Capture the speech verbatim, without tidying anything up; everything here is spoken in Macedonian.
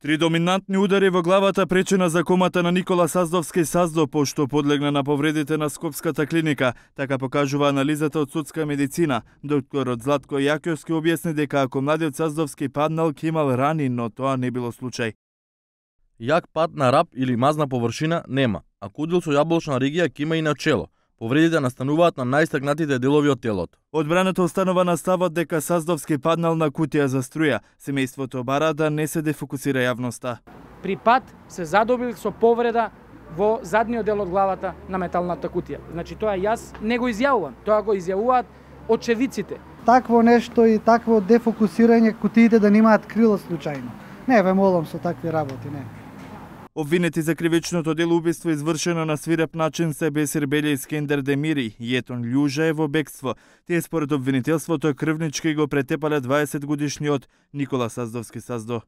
Три доминантни удари во главата пречина за комата на Никола Саздовски Саздо, пошто подлегна на повредите на Скопската клиника, така покажува анализата од судска медицина. Докторот Златко Јакјовски објасни дека ако младиот Саздовски паднал, ќе имал рани, но тоа не било случај. Јак пад на рап или мазна површина нема, а кудил со јаблочна ригија ќе има и на чело. Повредите настануваат на најстакнатите делови од телото. Одбраната останува на ставот дека Саздовски паднал на кутија за струја. Семејството бара да не се дефокусира јавноста. При пад се задобил со повреда во задниот дел од главата на металната кутија. Значи тоа јас не го изјавувам, тоа го изјавуваат очевиците. Такво нешто и такво дефокусирање кутиите да немаат крило случајно. Не ве молам со такви работи, не. Обвинети за кривичното дело убиство извршено на свиреп начин се Бесир Белја и Скендер Демири и Етон Љужа е во бегство. Тие според обвинителството крвнички го претепале дваесет годишниот Никола Саздовски Саздо.